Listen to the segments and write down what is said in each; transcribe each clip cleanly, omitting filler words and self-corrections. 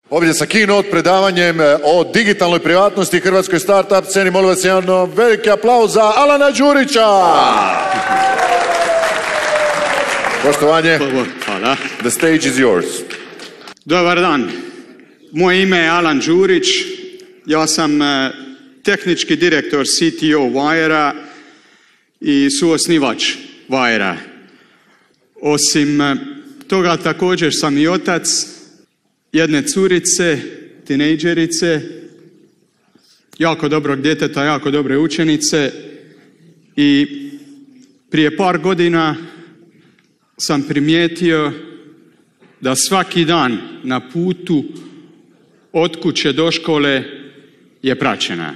Ovdje sa keynote predavanjem o digitalnoj privatnosti i hrvatskoj startup sceni. Molim vas jedan veliki aplauz za Alana Đurića. Poštovanje. Hvala. The stage is yours. Dobar dan. Moje ime je Alan Đurić. Ja sam tehnički direktor CTO Wire-a i suosnivač Wire-a. Osim toga također sam i otac jedne curice, tinejdžerice, jako dobrog djeteta, jako dobre učenice i prije par godina sam primijetio da svaki dan na putu od kuće do škole je praćena.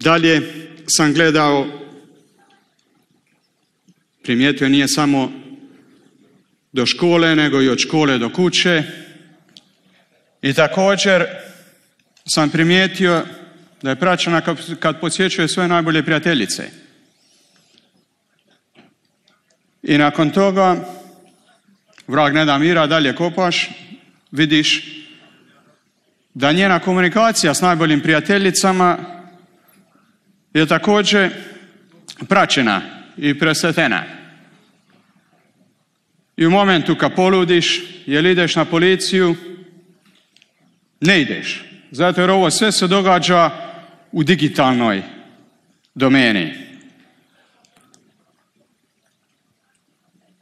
Dalje sam gledao, primijetio nije samo do škole, nego i od škole do kuće. I također sam primijetio da je praćena kad posjećuje svoje najbolje prijateljice. I nakon toga, vrag ne da mira, dalje kopaš, vidiš da njena komunikacija s najboljim prijateljicama je također praćena i presretena. I u momentu kad poludiš, jel ideš na policiju, ne ideš. Zato jer ovo sve se događa u digitalnoj domeni.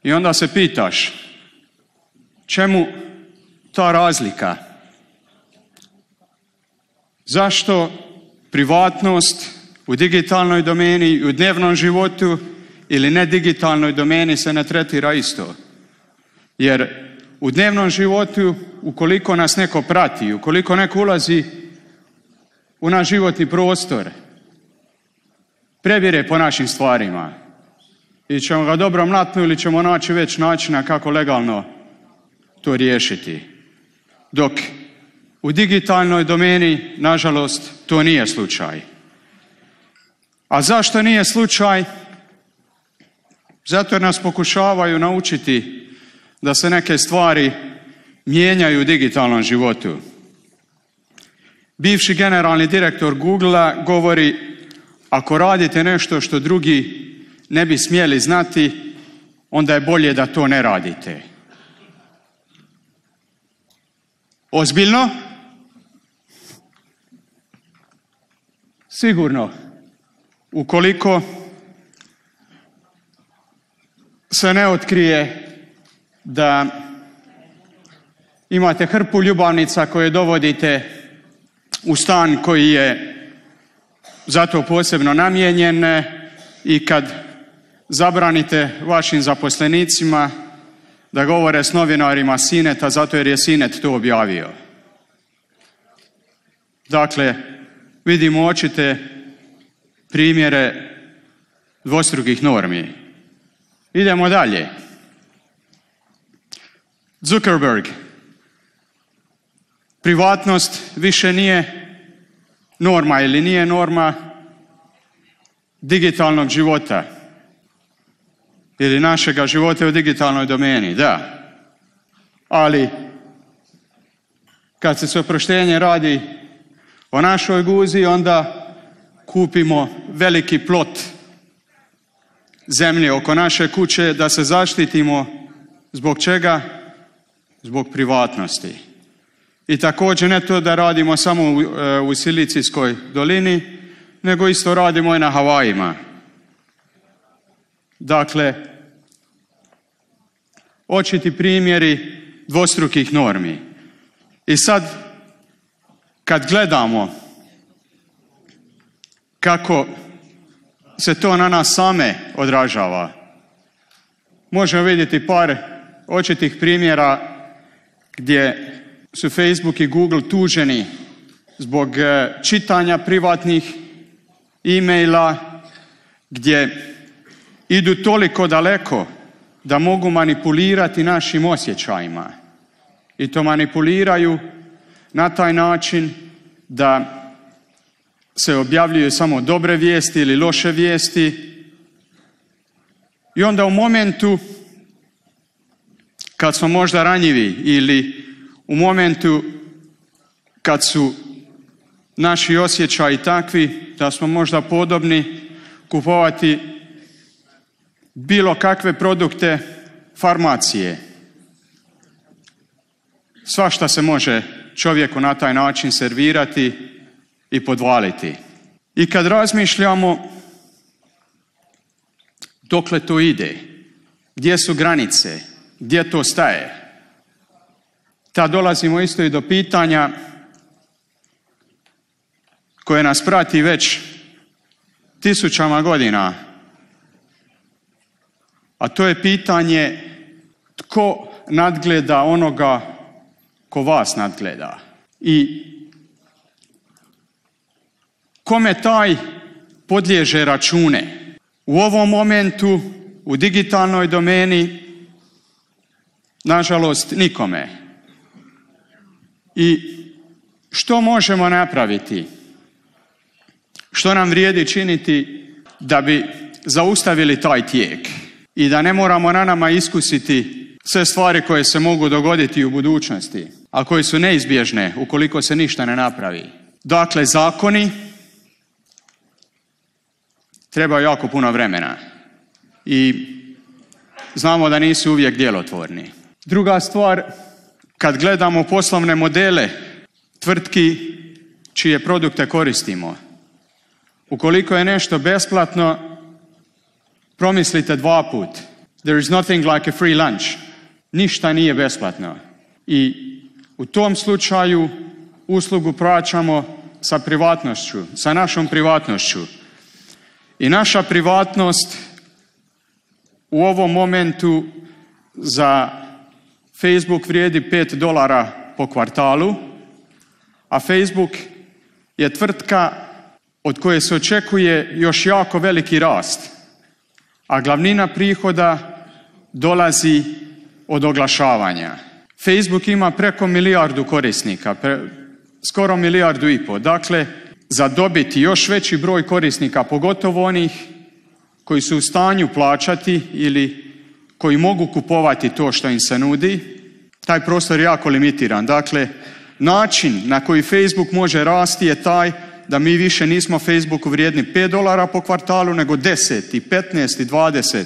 I onda se pitaš, čemu ta razlika? Zašto privatnost u digitalnoj domeni i u dnevnom životu ili nedigitalnoj domeni se ne tretira isto? Jer u dnevnom životu, ukoliko nas neko prati, ukoliko neko ulazi u naš životni prostor, prebire po našim stvarima i ćemo ga dobro mlatnu ili ćemo naći već načina kako legalno to riješiti. Dok u digitalnoj domeni, nažalost, to nije slučaj. A zašto nije slučaj? Zato jer nas pokušavaju naučiti da se neke stvari mijenjaju u digitalnom životu. Bivši generalni direktor Google-a govori, ako radite nešto što drugi ne bi smjeli znati, onda je bolje da to ne radite. Ozbiljno? Sigurno. Ukoliko se ne otkrije da imate hrpu ljubavnica koje dovodite u stan koji je zato posebno namijenjen i kad zabranite vašim zaposlenicima da govore s novinarima Sineta zato jer je Sinet to objavio. Dakle, vidimo očite primjere dvostrukih normi. Idemo dalje. Zuckerberg. Privatnost više nije norma ili nije norma digitalnog života ili našega života u digitalnoj domeni, da. Ali kad se s oproštenjem radi o našoj guzi, onda kupimo veliki plot zemlje oko naše kuće da se zaštitimo. Zbog čega? Zbog privatnosti. I također ne to da radimo samo u Silicijskoj dolini, nego isto radimo i na Havajima. Dakle, očiti primjeri dvostrukih normi. I sad, kad gledamo kako se to na nas same odražava, možemo vidjeti par očitih primjera gdje su Facebook i Google tuženi zbog čitanja privatnih e-maila, gdje idu toliko daleko da mogu manipulirati našim osjećajima. I to manipuliraju na taj način da se objavljuju samo dobre vijesti ili loše vijesti. I onda u momentu kad smo možda ranjivi ili u momentu kad su naši osjećaji takvi da smo možda podobni kupovati bilo kakve produkte farmacije. Svašta se može čovjeku na taj način servirati i podvaliti. I kad razmišljamo dokle to ide, gdje su granice, gdje to staje, tad dolazimo isto i do pitanja koje nas prati već tisućama godina, a to je pitanje tko nadgleda onoga ko vas nadgleda i kome taj podliježe račune. U ovom momentu, u digitalnoj domeni, nažalost nikome. I što možemo napraviti? Što nam vrijedi činiti da bi zaustavili taj tijek i da ne moramo na nama iskusiti sve stvari koje se mogu dogoditi u budućnosti, a koje su neizbježne ukoliko se ništa ne napravi. Dakle, zakoni treba jako puno vremena i znamo da nisu uvijek djelotvorni. Druga stvar, kad gledamo poslovne modele tvrtki čije produkte koristimo, ukoliko je nešto besplatno, promislite dva put. There is nothing like a free lunch. Ništa nije besplatno. I u tom slučaju uslugu plaćamo sa privatnošću, sa našom privatnošću. I naša privatnost u ovom momentu za Facebook vrijedi $5 po kvartalu, a Facebook je tvrtka od koje se očekuje još jako veliki rast, a glavnina prihoda dolazi od oglašavanja. Facebook ima preko 1 milijardu korisnika, skoro 1,5 milijardu. Dakle, za dobiti još veći broj korisnika, pogotovo onih koji su u stanju plaćati ili koji mogu kupovati to što im se nudi, taj prostor je jako limitiran. Dakle, način na koji Facebook može rasti je taj da mi više nismo Facebooku vrijedni $5 po kvartalu, nego 10 i 15 i 20,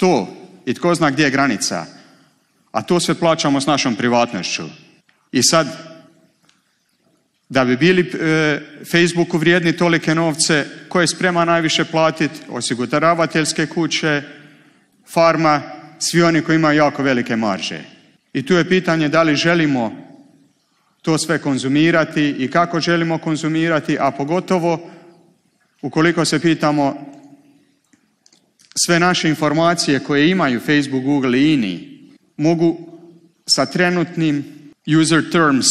100 i tko zna gdje je granica. A to sve plaćamo s našom privatnošću. I sad, da bi bili Facebooku vrijedni tolike novce, ko je spreman najviše platiti? Osiguravateljske kuće, farma, svi oni koji imaju jako velike marže. I tu je pitanje da li želimo to sve konzumirati i kako želimo konzumirati, a pogotovo ukoliko se pitamo sve naše informacije koje imaju Facebook, Google i ini mogu sa trenutnim user terms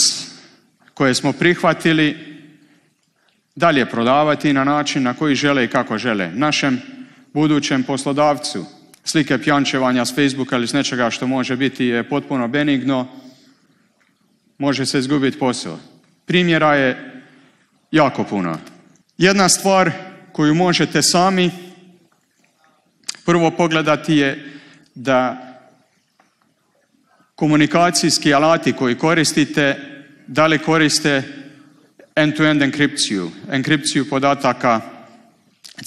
koje smo prihvatili dalje prodavati na način na koji žele i kako žele. Našem budućem poslodavcu slike pjančevanja s Facebooka ili s nečega što može biti je potpuno benigno, može se izgubiti posao. Primjera je jako puno. Jedna stvar koju možete sami prvo pogledati je da komunikacijski alati koji koristite, da li koriste end-to-end enkripciju podataka,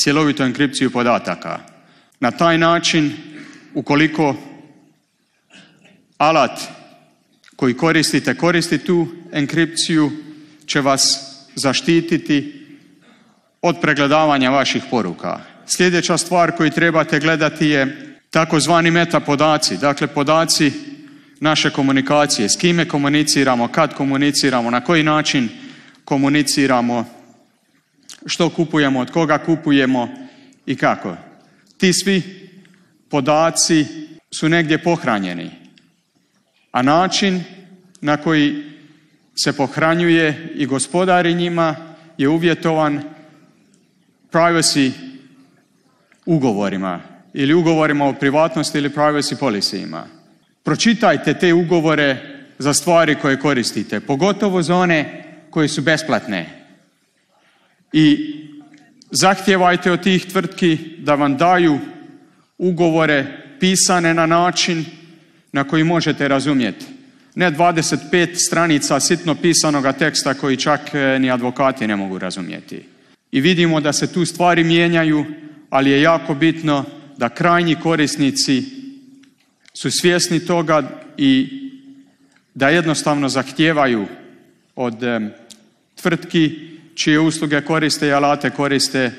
cjelovitu enkripciju podataka. Na taj način, ukoliko alat koji koristite koristi tu enkripciju, će vas zaštititi od pregledavanja vaših poruka. Sljedeća stvar koju trebate gledati je takozvani meta podaci, dakle podaci naše komunikacije, s kime komuniciramo, kad komuniciramo, na koji način komuniciramo, što kupujemo, od koga kupujemo i kako. Ti svi podaci su negdje pohranjeni, a način na koji se pohranjuje i gospodari njima je uvjetovan privacy ugovorima ili ugovorima o privatnosti ili privacy policyjima. Pročitajte te ugovore za stvari koje koristite, pogotovo za one koje su besplatne. I zahtijevajte od tih tvrtki da vam daju ugovore pisane na način na koji možete razumjeti. Ne 25 stranica sitno pisanoga teksta koji čak ni advokati ne mogu razumjeti. I vidimo da se tu stvari mijenjaju, ali je jako bitno da krajnji korisnici su svjesni toga i da jednostavno zahtijevaju od tvrtki čije usluge koriste i alate koriste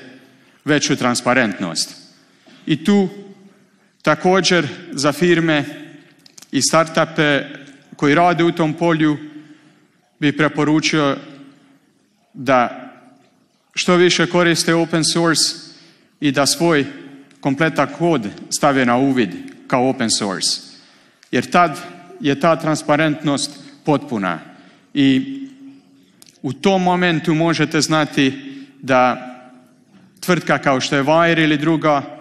veću transparentnost. I tu također za firme i startupe koji rade u tom polju bi preporučio da što više koriste open source i da svoj kompletan kod stave na uvid kao open source. Jer tad je ta transparentnost potpuna. I u tom momentu možete znati da tvrtka kao što je Wire ili druga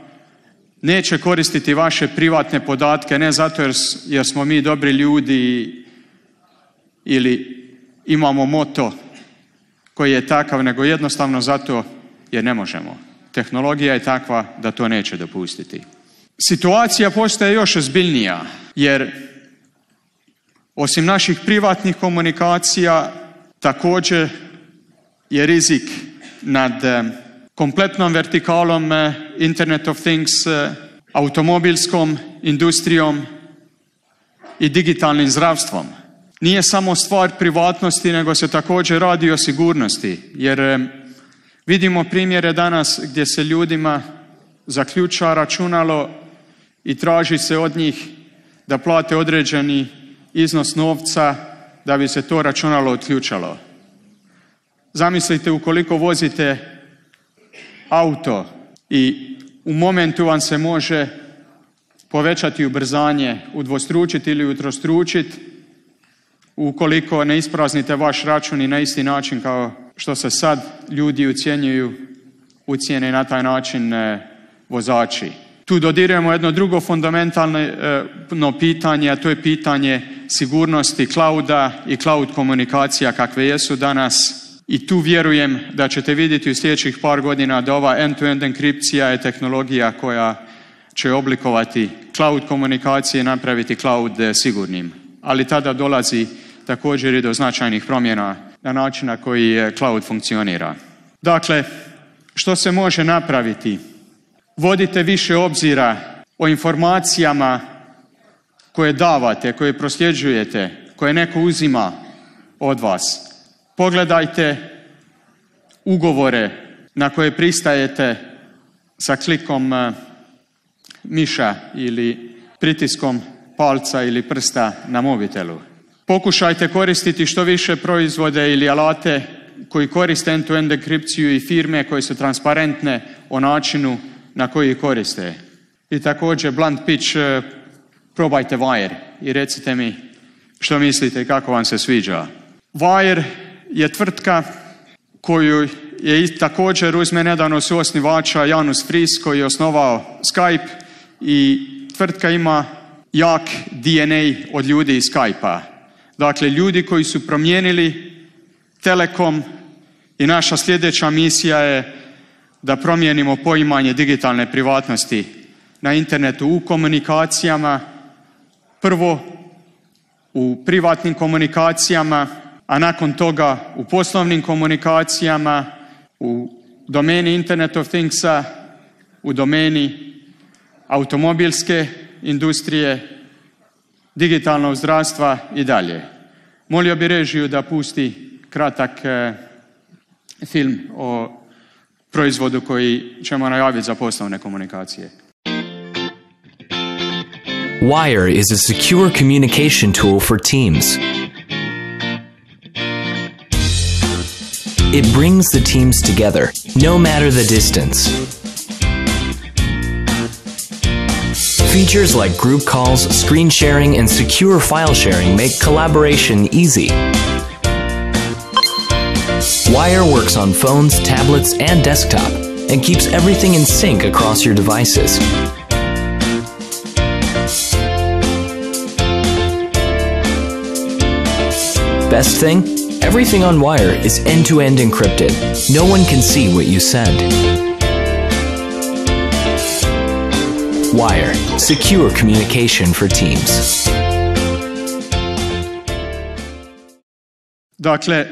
neće koristiti vaše privatne podatke, ne zato jer smo mi dobri ljudi ili imamo moto koji je takav, nego jednostavno zato jer ne možemo. Tehnologija je takva da to neće dopustiti. Situacija postaje još ozbiljnija, jer osim naših privatnih komunikacija također je rizik nad kompletnom vertikalom Internet of Things, automobilskom industrijom i digitalnim zdravstvom. Nije samo stvar privatnosti, nego se također radi o sigurnosti, jer vidimo primjere danas gdje se ljudima zaključa računalo i traži se od njih da plate određeni iznos novca da bi se to računalo otključalo. Zamislite ukoliko vozite auto i u momentu vam se može povećati ubrzanje, udvostručiti ili utrostručiti ukoliko ne ispraznite vaš račun i na isti način kao što se sad ljudi ucijene na taj način vozači. Tu dodirujemo jedno drugo fundamentalno pitanje, a to je pitanje sigurnosti clouda i cloud komunikacija kakve jesu danas. I tu vjerujem da ćete vidjeti u sljedećih par godina da ova end-to-end enkripcija je tehnologija koja će oblikovati cloud komunikacije i napraviti cloud sigurnim. Ali tada dolazi također i do značajnih promjena na način na koji cloud funkcionira. Dakle, što se može napraviti? Vodite više obzira o informacijama koje davate, koje prosljeđujete, koje neko uzima od vas. Pogledajte ugovore na koje pristajete sa klikom miša ili pritiskom palca ili prsta na mobitelu. Pokušajte koristiti što više proizvode ili alate koji koriste end-to-end enkripciju i firme koje su transparentne o načinu na koji koriste. I također, blunt pitch, probajte Wire i recite mi što mislite i kako vam se sviđa. Wire je tvrtka koju je također uz mene nedavno suosnivača Janus Friis koji je osnovao Skype i tvrtka ima jak DNA od ljudi iz Skype-a. Dakle, ljudi koji su promijenili Telekom i naša sljedeća misija je da promijenimo poimanje digitalne privatnosti na internetu u komunikacijama, prvo u privatnim komunikacijama, a nakon toga u poslovnim komunikacijama, u domeni Internet of Thingsa, u domeni automobilske industrije, digitalnog zdravstva i dalje. Molio bi režiju da pusti kratak film o proizvodu koji ćemo najaviti za poslovne komunikacije. Wire is a secure communication tool for teams. It brings the teams together, no matter the distance. Features like group calls, screen sharing, and secure file sharing make collaboration easy. Wire works on phones, tablets, and desktop, and keeps everything in sync across your devices. Best thing? Everything on Wire is end-to-end encrypted. No one can see what you send. Wire, secure communication for teams. Dakle,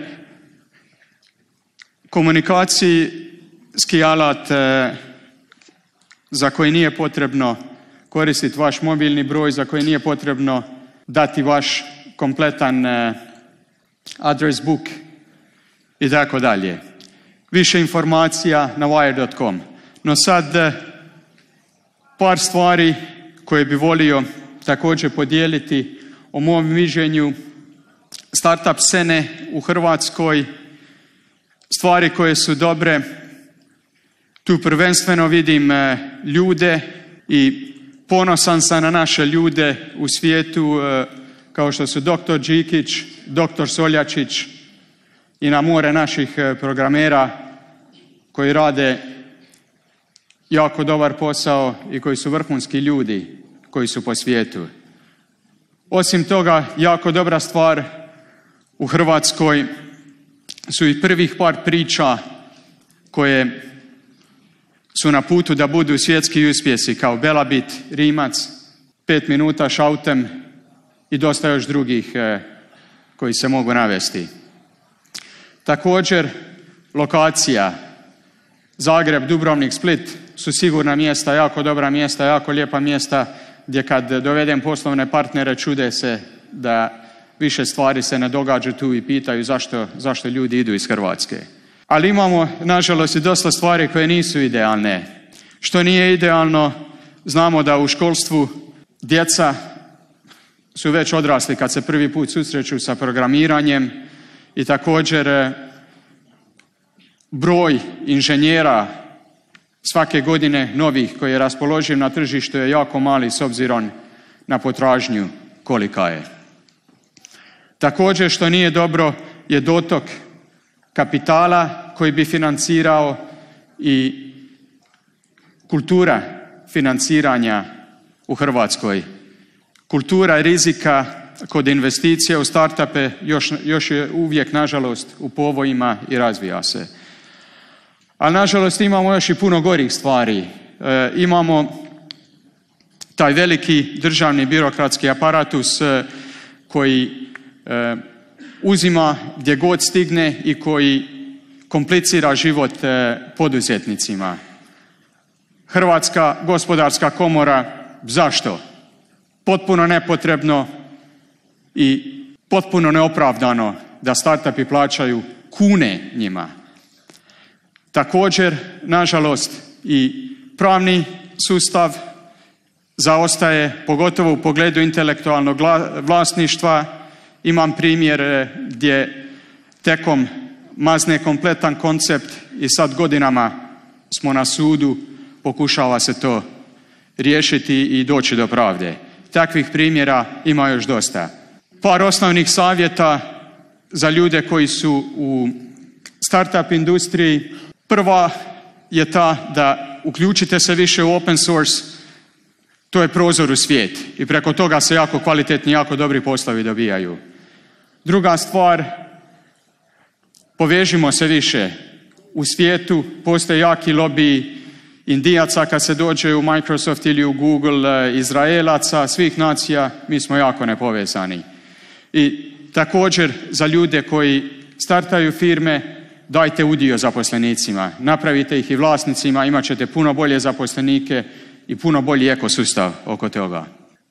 komunikacijski alat za koji nije potrebno koristiti vaš mobilni broj, za koji nije potrebno dati vaš kompletan address book i tako dalje. Više informacija na wire.com. No sad par stvari koje bi volio također podijeliti o mom viđenju startup scene u Hrvatskoj, stvari koje su dobre. Tu prvenstveno vidim ljude i ponosan sam na naše ljude u svijetu kao što su dr. Đikić, dr. Soljačić i na more naših programera koji rade jako dobar posao i koji su vrhunski ljudi koji su po svijetu. Osim toga, jako dobra stvar u Hrvatskoj su i prvih par priča koje su na putu da budu svjetski uspjesi, kao Belabit, Rimac, 5 minuta šautem i dosta još drugih koji se mogu navesti. Također, lokacija Zagreb, Dubrovnik, Split su sigurna mjesta, jako dobra mjesta, jako lijepa mjesta gdje kad dovedem poslovne partnere čude se da više stvari se ne događa tu i pitaju zašto ljudi idu iz Hrvatske. Ali imamo, nažalost, i dosta stvari koje nisu idealne. Što nije idealno, znamo da u školstvu djeca su već odrasli kad se prvi put susreću sa programiranjem i također broj inženjera svake godine novih koji je raspoloživ na tržištu je jako mali s obzirom na potražnju kolika je. Također što nije dobro je dotok kapitala koji bi financirao i kultura financiranja u Hrvatskoj. Kultura rizika kod investicija u startupe još je uvijek, nažalost, u povojima i razvija se. Ali, nažalost, imamo još i puno gorih stvari. Imamo taj veliki državni birokratski aparatus koji uzima gdje god stigne i koji komplicira život poduzetnicima. Hrvatska gospodarska komora, zašto? Potpuno nepotrebno i potpuno neopravdano da startupi plaćaju kune njima. Također, nažalost, i pravni sustav zaostaje, pogotovo u pogledu intelektualnog vlasništva. Imam primjer gdje Tekom mazne kompletan koncept i sad godinama smo na sudu, pokušava se to riješiti i doći do pravde. Takvih primjera ima još dosta. Par osnovnih savjeta za ljude koji su u startup industriji. Prva je ta da uključite se više u open source. To je prozor u svijet i preko toga se jako kvalitetni, jako dobri poslovi dobijaju. Druga stvar, povežimo se više. U svijetu postoje jaki lobiji Indijaca kad se dođe u Microsoft ili u Google, Izraelaca, svih nacija, mi smo jako nepovezani. I također za ljude koji startaju firme, dajte udio zaposlenicima, napravite ih i vlasnicima, imat ćete puno bolje zaposlenike i puno bolji ekosustav oko toga.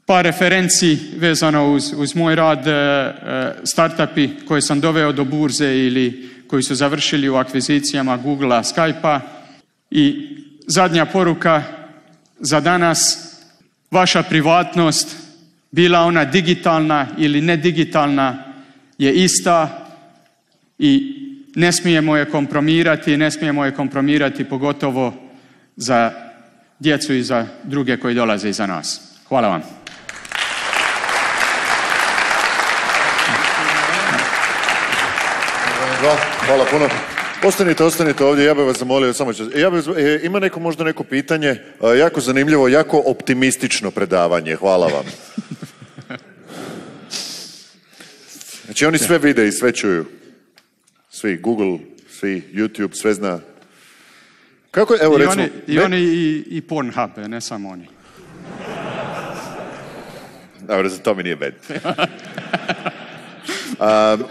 Par referenci vezano uz moj rad, startupi koje sam doveo do burze ili koji su završili u akvizicijama Googlea, Skypea. I zadnja poruka za danas, vaša privatnost, bila ona digitalna ili nedigitalna, je ista i ne smijemo je kompromirati pogotovo za djecu i za druge koji dolaze iza nas. Hvala vam. Hvala puno. Ostanite ovdje, ja bih vas zamolio, ima možda neko pitanje, jako zanimljivo, jako optimistično predavanje, hvala vam. Znači oni sve vide i sve čuju. Svi, Google, svi, YouTube, sve zna. Kako je, evo recimo... Oni i Pornhub, ne samo oni. Dobro, za to mi nije bed.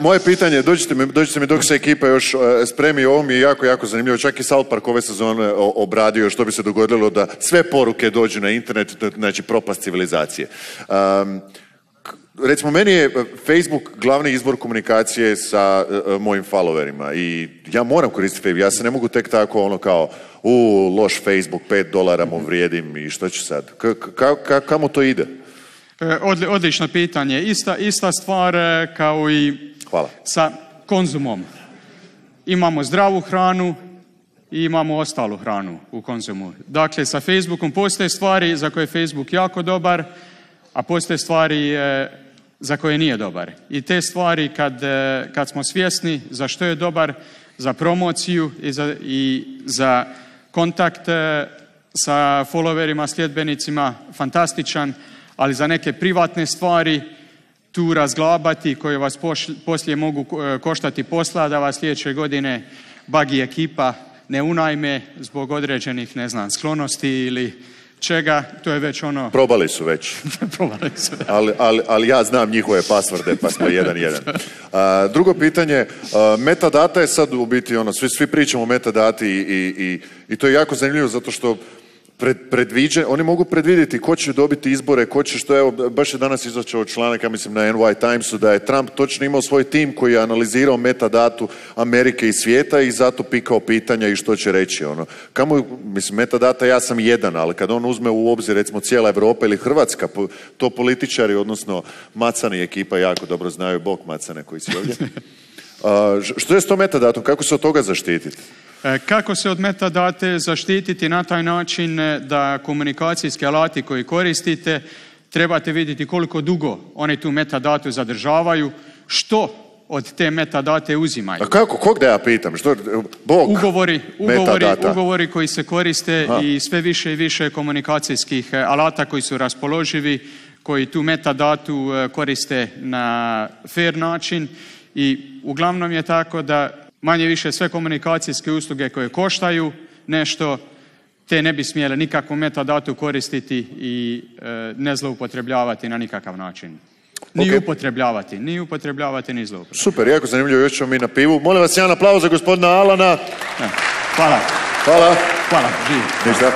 Moje pitanje, dođite mi dok se ekipa još spremi, ovo mi je jako, jako zanimljivo. Čak i South Park ove sezone obradio što bi se dogodilo da sve poruke dođu na internet, znači propast civilizacije. Recimo, meni je Facebook glavni izbor komunikacije sa mojim followerima i ja moram koristiti Facebook. Ja se ne mogu tek tako ono kao loš Facebook, $5 mu vrijedim i što ću sad? Kamo to ide? Odlično pitanje. Ista stvar kao i sa konzumom. Imamo zdravu hranu i imamo ostalu hranu u konzumu. Dakle, sa Facebookom postoje stvari za koje je Facebook jako dobar, a postoje stvari za koje nije dobar. I te stvari kad smo svjesni za što je dobar, za promociju i za kontakt sa followerima, sljedbenicima, fantastičan, ali za neke privatne stvari tu razglabati koje vas poslije mogu koštati posla, da vas sljedeće godine bagi ekipa ne unajme zbog određenih, ne znam, sklonosti ili čega, to je već ono... Probali su već. Probali su. Ali ja znam njihove pasvorde, pa smo 1-1. Drugo pitanje, metadata je sad u biti ono, svi pričamo o metadati i to je jako zanimljivo zato što oni mogu predvidjeti ko će dobiti izbore, ko će što, evo, baš je danas izašao članak, ja mislim na NY Timesu, da je Trump točno imao svoj tim koji je analizirao metadatu Amerike i svijeta i zato pikao pitanja i što će reći. Ono. Mislim, metadata ja sam jedan, ali kad on uzme u obzir recimo cijela Europa ili Hrvatska, to političari, odnosno Macani ekipa jako dobro znaju, bok Macane koji si ovdje. Što je s tom metadatom? Kako se od toga zaštititi? Kako se od metadate zaštititi na taj način da komunikacijski alati koji koristite trebate vidjeti koliko dugo oni tu metadatu zadržavaju, što od te metadate uzimaju. A kako? Kog da ja pitam? Što? Bog Ugovori koji se koriste i sve više i više komunikacijskih alata koji su raspoloživi, koji tu metadatu koriste na fair način i uglavnom je tako da manje više sve komunikacijske usluge koje koštaju nešto, te ne bi smjele nikakvu metadatu koristiti i ne zloupotrebljavati na nikakav način. Ni upotrebljavati, ni zloupotrebljavati. Super, jako zanimljivo, još ćemo mi na pivu. Molim vas, jedan aplauz za gospodina Alana. Hvala. Hvala. Hvala, živ. Ništa.